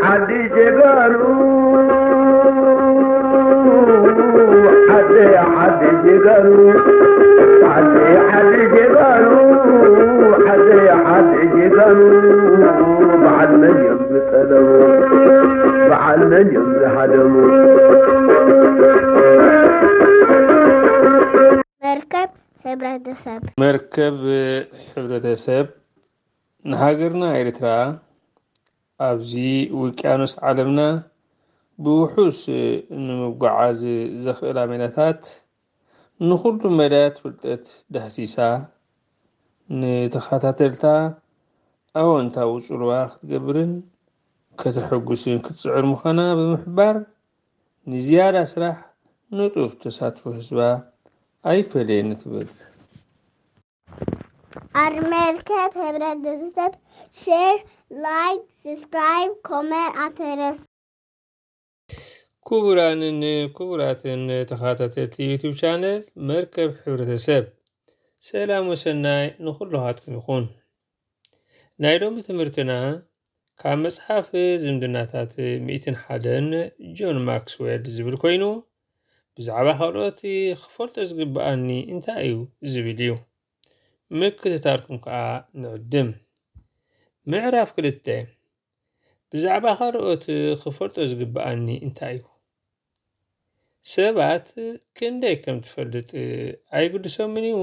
ዓዲ ጀጋኑ፣ ዓዲ፣ ዓዲ ጀጋኑ፣ ዓዲ፣ ዓዲ ጀጋኑ፣ ዓዲ፣ ዓዲ ጀጋኑ፣ በዓል መን እዮም ዝጠለሙ? በዓል መን እዮም ዝሃደሙ? መርከብ ሕብረተሰብ። መርከብ ሕብረተሰብ ንሃገርና ኤርትራ ኣብዚ ውቅያኖስ ዓለምና ብውሑስ ንምጉዓዝ ዘኽእላ ሜላታት ንኹሉ መዳያት ፍልጠት ዳህሲሳ ንተኸታተልታ ኣወንታዊ ጽልዋ ክትገብርን ከተሐጉስን ክትጽዕር ምዃና ብምሕባር ንዝያዳ ስራሕ ንጡፍ ተሳትፎ ህዝባ ኣይፈለየኒ ትብል። ኣብ መርከብ ሕብረተሰብ ሼር፣ ላይክ፣ ሰብስክራይብ፣ ኮመንት ኣይትረስዑ። ክቡራንን ክቡራትን ተኸታተልቲ ዩቱብ ቻነል መርከብ ሕብረተሰብ፣ ሰላም ወሰናይ ንኹልኻትኩም ይኹን። ናይ ሎሚ ትምህርትና ካብ መጽሓፍ ዝምድናታት ሚእትን ሓደን ጆን ማክስዌል ዝብል ኮይኑ፣ ብዛዕባ ካልኦት ክፈልጦ ዝግብኣኒ እንታይ እዩ ዝብል እዩ። ምክትታልኩም ከኣ ንዕድም። ምዕራፍ ክልተ፣ ብዛዕባ ካልኦት ክፈልጦ ዝግብኣኒ እንታይ እዩ? ሰባት ክንደይ ከም ትፈልጥ ኣይግድሶምን እዩ።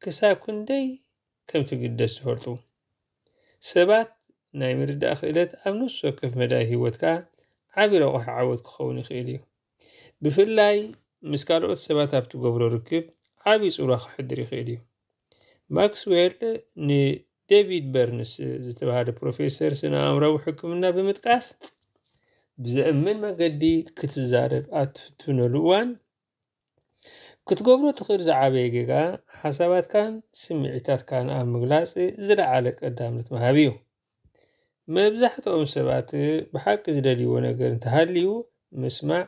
ክሳብ ክንደይ ከም ትግደስ ትፈልጡ። ሰባት ናይ ምርዳእ ክእለት ኣብ ነፍሲ ወከፍ መዳይ ህይወትካ ዓቢ ረቑሒ ዓወት ክኸውን ይኽእል እዩ። ብፍላይ ምስ ካልኦት ሰባት ኣብ ትገብሮ ርክብ ዓቢ ጽልዋ ክሕድር ይኽእል እዩ። ማክስዌል ንዴቪድ በርንስ ዝተባህለ ፕሮፌሰር ስነ ኣእምሮዊ ሕክምና ብምጥቃስ፣ ብዘእምን መገዲ ክትዛረብ ኣብ ትፍትነሉ እዋን፣ ክትገብሮ ትኽእል ዝዓበየ ጌጋ፣ ሓሳባትካን ስምዒታትካን ኣብ ምግላጽ ዝለዓለ ቀዳምነት ምሃብ እዩ። መብዛሕትኦም ሰባት ብሓቂ ዝደልይዎ ነገር እንተሃልዩ፣ ምስማዕ፣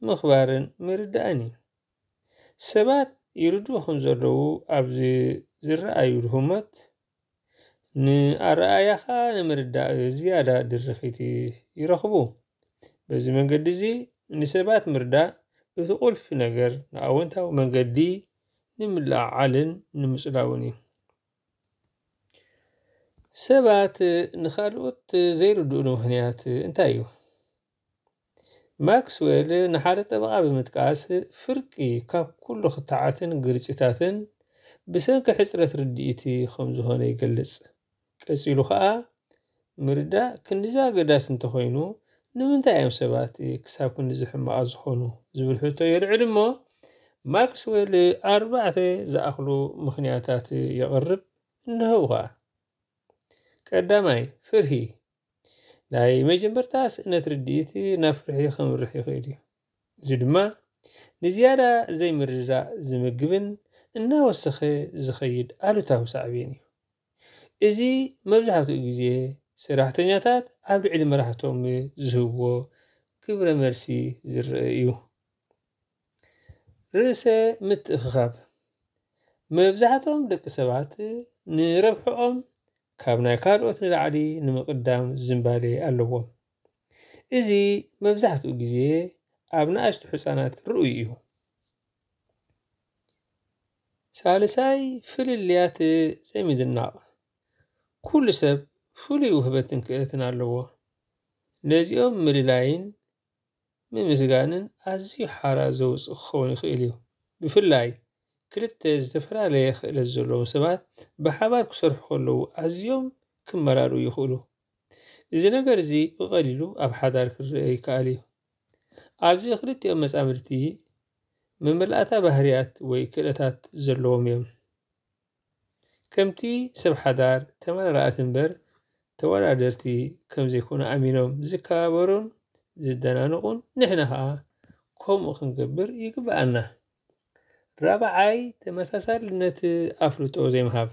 ምኽባርን ምርዳእን እዩ። ሰባት ይርድኡ ከም ዘለዉ ኣብ ዝረኣዩሉ ህሞት፣ ንኣረኣእያኻ ንምርዳእ ዝያዳ ድርኺት ይረኽቡ። በዚ መንገዲ እዚ፣ ንሰባት ምርዳእ እቲ ቁልፊ ነገር ንኣወንታዊ መንገዲ ንምልዕዓልን ንምጽላውን እዩ። ሰባት ንኻልኦት ዘይርድኡሉ ምኽንያት እንታይ እዩ? ማክስዌል ንሓደ ጠበቓ ብምጥቃስ፣ ፍርቂ ካብ ኩሉ ክትዓትን ግርጭታትን ብሰንኪ ሕጽረት ርድኢት ከም ዝኾነ ይገልጽ። ቀጺሉ ኸኣ፣ ምርዳእ ክንድዚ ኣገዳሲ እንተኾይኑ፣ ንምንታይ እዮም ሰባት ክሳብ ክንድዚ ሕማቓት ዝኾኑ? ዝብል ሕቶ የልዕል እሞ፣ ማክስዌል ኣርባዕተ ዝኣኽሉ ምኽንያታት የቕርብ፣ እንሆ ኸኣ። ቀዳማይ፣ ፍርሂ። ናይ መጀመርታ ስእነት ርድኢት ናብ ፍርሒ ከምርሕ ይኽእል እዩ። እዚ ድማ ንዝያዳ ዘይምርድዳእ ዝምግብን እናወሰኸ ዝኸይድ ኣሉታዊ ሳዕቤን እዩ። እዚ መብዛሕትኡ ግዜ ሰራሕተኛታት ኣብ ልዕሊ መራሕቶም ዝህብዎ ግብረ መልሲ ዝረአ እዩ። ርእሰ ምትእኽኻብ። መብዛሕትኦም ደቂ ሰባት ንረብሕኦም ካብ ናይ ካልኦት ንላዕሊ ንምቕዳም ዝንባሌ ኣለዎም። እዚ መብዛሕትኡ ግዜ ኣብ ንኣሽቱ ህጻናት ርኡይ እዩ። ሳልሳይ፣ ፍልልያት ዘይምድናቕ። ኩሉ ሰብ ፍሉይ ውህበትን ክእለትን ኣለዎ። ነዚኦም ምልላይን ምምስጋንን ኣዝዩ ሓራ ዘውጽእ ክኸውን ይኽእል እዩ። ብፍላይ ክልተ ዝተፈላለየ ክእለት ዘለዎም ሰባት ብሓባር ክሰርሑ ከለዉ ኣዝዮም ክመራርኡ ይኽእሉ። እዚ ነገር እዚ ብቐሊሉ ኣብ ሓዳር ክረአ ይከኣል እዩ። ኣብዚ ክልቲኦም መጻምድቲ መመላእታ ባህርያት ወይ ክእለታት ዘለዎም እዮም። ከምቲ ሰብ ሓዳር ተመራራእቲ እምበር ተወዳደርቲ ከም ዘይኮኑ ኣሚኖም ዝከባበሩን ዝደናነቑን፣ ንሕና ኸኣ ከምኡ ክንገብር ይግብኣና። ራብዓይ፣ ተመሳሳልነት ኣፍልጦ ዘይምሃብ።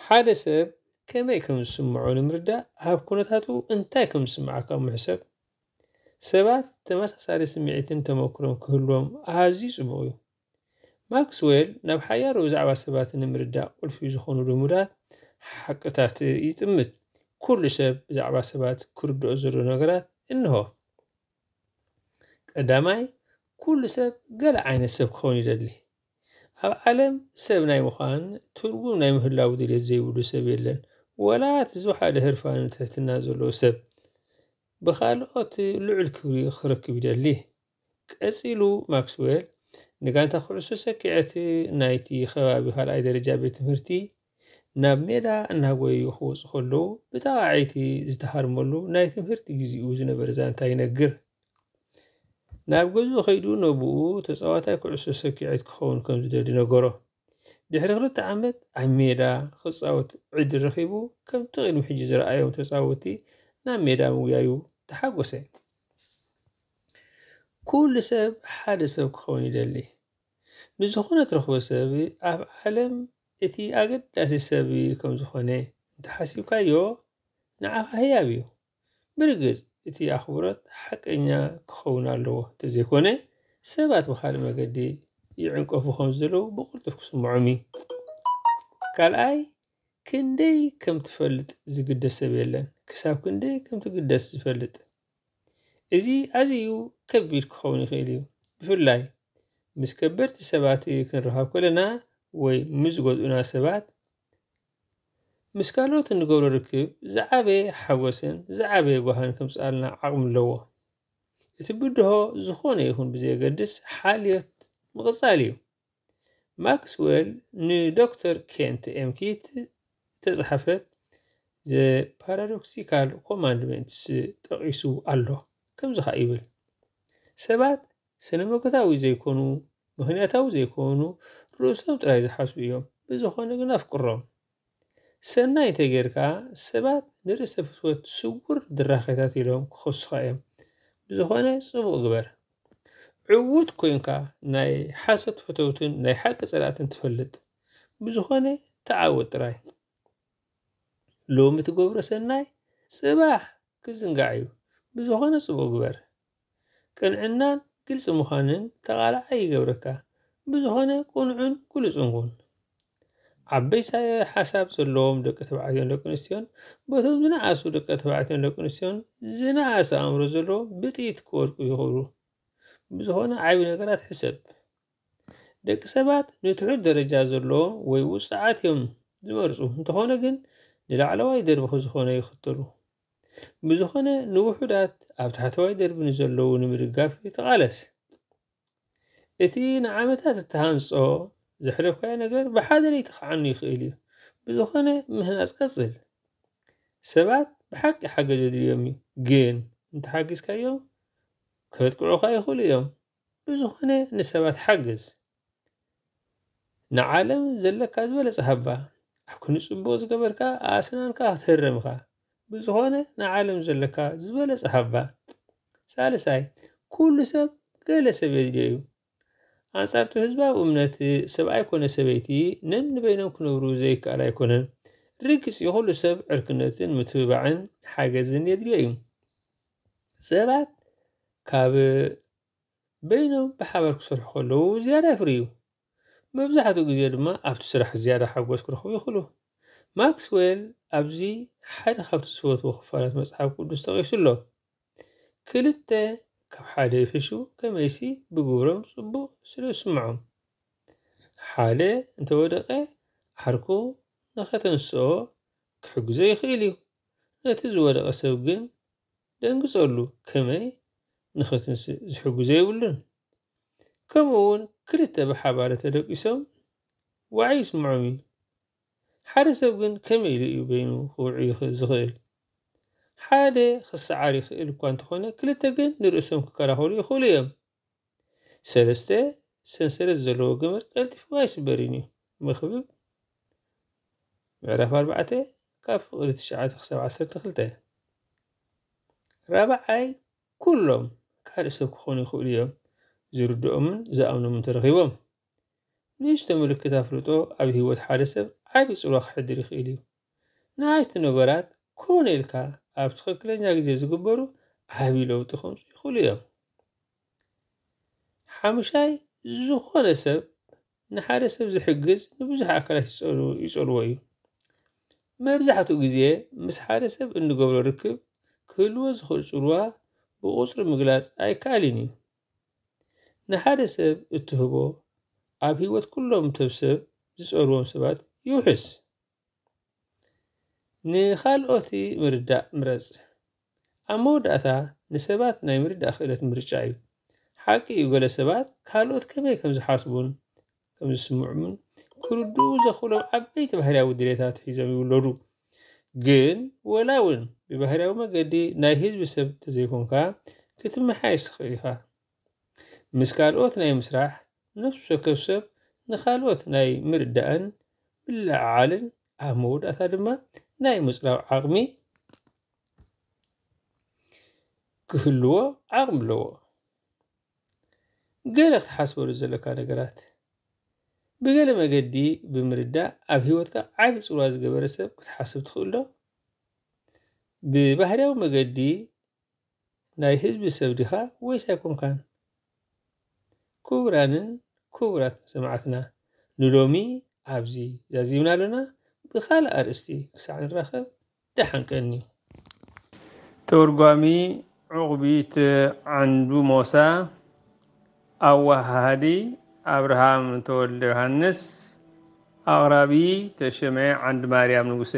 ሓደ ሰብ ከመይ ከም ዝስምዖ ንምርዳእ፣ ኣብ ኩነታቱ እንታይ ከም ዝስምዓካ ምሕሰብ። ሰባት ተመሳሳሊ ስምዒትን ተመክሮን ክህልዎም ኣዝዩ ጽቡቕ እዩ። ማክስዌል ናብ ሓያሎ ብዛዕባ ሰባት ንምርዳእ ቁልፊ ዝኾኑ ልሙዳት ሓቅታት ይጥምት። ኩሉ ሰብ ብዛዕባ ሰባት ክርድኦ ዘሎ ነገራት እንሆ። ቀዳማይ፣ ኩሉ ሰብ ገለ ዓይነት ሰብ ክኸውን ይደሊ። ኣብ ዓለም ሰብ ናይ ምዃን ትርጉም ናይ ምህላው ድልየት ዘይብሉ ሰብ የለን። ወላ እቲ ዝወሓደ ህርፋንን ትሕትናን ዘለዎ ሰብ ብኻልኦት ልዑል ክብሪ ክረክብ ይደሊ። ቀጺሉ ማክስዌል ንጋንታ ኩዕሶ ሰኪዐት ናይቲ ከባቢ ካልኣይ ደረጃ ቤት ትምህርቲ ናብ ሜዳ እናጎየዩ ክወጹ ከለዉ ብጣቕዓይቲ ዝተሃርመሉ ናይ ትምህርቲ ግዜኡ ዝነበረ ዛንታ ይነግር። ናብ ገዝኡ ከይዱ ነብኡ ተጻዋታይ ኩዕሶ ሰኪዐት ክኸውን ከም ዝደሊ ነገሮ። ድሕሪ ክልተ ዓመት ኣብ ሜዳ ክጻወት ዕድል ረኺቡ ከምቲ ቅድሚ ሕጂ ዝረኣዮም ተጻወትቲ ናብ ሜዳ ምጉያዩ ተሓጎሰ። ኩሉ ሰብ ሓደ ሰብ ክኸውን ይደሊ። ንዝኾነ ትረኽቦ ሰብ ኣብ ዓለም እቲ ኣገዳሲ ሰብ ከም ዝኾነ እንተሓሲብካዮ ንዓኻ ህያብ እዩ። ብርግጽ እቲ ኣኽብሮት ሓቀኛ ክኸውን ኣለዎ፣ እንተዘይኮነ ሰባት ብኻልእ መገዲ ይዕንቀፉ ከም ዘለዉ ብቕልጡፍ ክስምዖም እዩ። ካልኣይ፣ ክንደይ ከም ትፈልጥ ዝግደስ ሰብ የለን፣ ክሳብ ክንደይ ከም ትግደስ ዝፈልጥ። እዚ ኣዝዩ ከቢድ ክኸውን ይኽእል እዩ፣ ብፍላይ ምስ ከበድቲ ሰባት ክንራኸብ ከለና ወይ ምስ ዝጎድኡና ሰባት። ምስ ካልኦት እንገብሮ ርክብ ዝዓበየ ሓጎስን ዝዓበየ ጓህን ከምጽኣልና ዓቕሚ ኣለዎ። እቲ ብድሆ ዝኾነ ይኹን ብዘየገድስ ሓልዮት ምቕጻል እዩ። ማክስዌል ንዶክተር ኬንት ኤም ኪት ዝተጻሕፈት The Paradoxical Commandments ጠቒሱ ኣሎ። ከምዚ ኸኣ ይብል፣ ሰባት ስነ መጎታዊ ዘይኮኑ፣ ምኽንያታዊ ዘይኮኑ፣ ርእሶም ጥራይ ዝሓስቡ እዮም። ብዝኾነ ግን ኣፍቅሮም። ሰናይ እንተጌርካ፣ ሰባት ንርእሰ ፍትወት ስውር ድራኼታት ኢሎም ክኸሱኻ እዮም። ብዝኾነ ጽቡቕ ግበር። ዕዉት ኮንካ ናይ ሓሶት ፈተውትን ናይ ሓቂ ጸላእትን ትፈልጥ። ብዝኾነ ተዓወት ጥራይ። ሎሚ ትገብሮ ሰናይ ጽባሕ ክዝንጋዕ እዩ። ብዝኾነ ጽቡቕ ግበር። ቅንዕናን ግልጺ ምዃንን ተቓላዓይ ይገብረካ። ብዝኾነ ቅኑዕን ግሉጽን ኩን። ዓበይቲ ሓሳብ ዘለዎም ደቂ ተባዕትዮን ደቂ ኣንስትዮን በቶም ዝነኣሱ ደቂ ተባዕትዮን ደቂ ኣንስትዮን ዝነኣሰ ኣእምሮ ዘለዎም ብጥይት ክወድቁ ይኽእሉ። ብዝኾነ ዓቢ ነገራት ሕሰብ። ደቂ ሰባት ንትሑት ደረጃ ዘለዎም ወይ ውጹዓት እዮም ዝመርጹ። እንተኾነ ግን ንላዕለዋይ ደርቢ ዝኾነ ይኽተሉ። ብዝኾነ ንውሑዳት ኣብ ታሕተዋይ ደርቢ ንዘለዉ ንምድጋፍ ተቓለስ። እቲ ንዓመታት እተሃንጾ ዘሕለፍካዮ ነገር ብሓደ ለይቲ ክዓኑ ይኽእል እዩ። ብዝኾነ ምህናጽ ቀጽል። ሰባት ብሓቂ ሓገዝ የድልዮም እዩ፣ ግን እንተሓጊዝካዮም ከጥቅዑኻ ይኽእሉ እዮም። ብዝኾነ ንሰባት ሓግዝ። ንዓለም ዘለካ ዝበለጸ ሃባ። ኣብ ክንዲ ጽቡቕ ዝገበርካ ኣስናንካ ክትህረም ኢኻ። ብዝኾነ ንዓለም ዘለካ ዝበለጸ ሃባ። ሳልሳይ፣ ኩሉ ሰብ ገለ ሰብ የድልዮ እዩ። ኣንጻር እቲ ህዝባዊ እምነት ሰብኣይ ኮነ ሰበይቲ ነንበይኖም ክነብሩ ዘይከኣል ኣይኮነን። ርግጽ እዩ፣ ኩሉ ሰብ ዕርክነትን ምትብባዕን ሓገዝን የድልዮ እዩ። ሰባት ካብ በይኖም ብሓባር ክሰርሑ ከለዉ ዝያዳ የፍርዩ። መብዛሕትኡ ግዜ ድማ ኣብቲ ስራሕ ዝያዳ ሓጎስ ክረኽቡ ይኽእሉ። ማክስዌል ኣብዚ ሓደ ካብቲ ዝፈትዎ ክፋላት መጽሓፍ ቅዱስ ጠቒሱ ኣሎ። ክልተ ካብ ሓደ ይሕሹ፣ ከመይሲ ብግብሮም ጽቡቕ ስለ ዝስምዖም። ሓደ እንተወደቐ ዓርኩ ንኸተንስኦ ክሕግዞ ይኽእል እዩ። ነቲ ዝወደቐ ሰብ ግን ደንግጸሉ፣ ከመይ ንኸትንስእ ዝሕግዞ የብሉን። ከምኡ እውን ክልተ ብሓባር ተደቂሶም ዋዒ ይስምዖም እዩ። ሓደ ሰብ ግን ከመይ ኢሉ እዩ በይኑ ክውዒ ይኽእል ዝኽእል? ሓደ ክሰዓር ይኽእል እኳ እንተኾነ፣ ክልተ ግን ንርእሶም ክከላኸሉ ይኽእሉ እዮም። ሰለስተ፣ ሰንሰለት ዘለዎ ገመድ ቀልጢፉ ኣይስበርን እዩ። መኽብብ ምዕራፍ ኣርባዕተ ካብ ፍቕዲ ትሽዓተ ክሳብ ዓሰርተ ክልተ። ራብዓይ፣ ኩሎም ካልእ ሰብ ክኾኑ ይኽእሉ እዮም፣ ዝርድኦምን ዝኣምኖምን ተረኺቦም። ንእሽቶ ምልክት ኣፍልጦ ኣብ ህይወት ሓደ ሰብ ዓቢ ጽልዋ ክሕድር ይኽእል እዩ። ንኣሽቱ ነገራት ኮነ ኢልካ ኣብ ትኽክለኛ ግዜ ዝግበሩ ዓቢ ለውጢ ከምጽኡ ይኽእሉ እዮም። ሓሙሻይ፣ ዝኾነ ሰብ ንሓደ ሰብ ዝሕግዝ ንብዙሕ ኣካላት ይጸሉ-፣ ይጸልዎ እዩ። መብዛሕትኡ ግዜ ምስ ሓደ ሰብ እንገብሮ ርክብ ክህልዎ ዝኽእል ጽልዋ ብቑጽሪ ምግላጽ ኣይከኣልን እዩ። ንሓደ ሰብ እትህቦ፣ ኣብ ህይወት ኩሎም ሰብ ዝጸልዎም ሰባት ይውሕስ። ንኻልኦት ምርዳእ ምረጽ። ኣብ መወዳእታ ንሰባት ናይ ምርዳእ ክእለት ምርጫ እዩ። ሓቂ እዩ፣ ገለ ሰባት ካልኦት ከመይ ከም ዝሓስቡን ከም ዝስምዑምን ክርድኡ ዘኽእሎም ዓበይቲ ባህርያዊ ድሌታት ሒዞም ይውለዱ። ግን ወላ እውን ብባህርያዊ መገዲ ናይ ህዝቢ ሰብ ተዘይኮንካ ክትመሓየሽ ትኽእል ኢኻ። ምስ ካልኦት ናይ ምስራሕ ነፍሲ ወከፍ ሰብ ንኻልኦት ናይ ምርዳእን ምልዕዓልን ኣብ መወዳእታ ድማ ናይ ምጽራብ ዓቕሚ ክህልዎ ዓቕሚ ኣለዎ። ገለ ክትሓስበሉ ዘለካ ነገራት። ብገለ መገዲ ብምርዳእ ኣብ ህይወትካ ዓቢ ጽልዋ ዝገበረ ሰብ ክትሓስብ ትኽእል ዶ? ብባህርያዊ መገዲ ናይ ህዝቢ ሰብ ዲኻ ወይስ ኣይኮንካን? ክቡራንን ክቡራት ሰማዕትና፣ ንሎሚ ኣብዚ ዛዚምና ኣሎና። ብኻልእ ኣርእስቲ ክሳዕ ንራኸብ ደሓን ቀኒ። ተርጓሚ ዑቕቢት ዓንዱ ሞሳ፣ ኣወሃሃዲ ኣብርሃም ተወልደ ዮሃንስ፣ ኣቕራቢ ተሸመ ዓንዲ ማርያም ንጉሰ።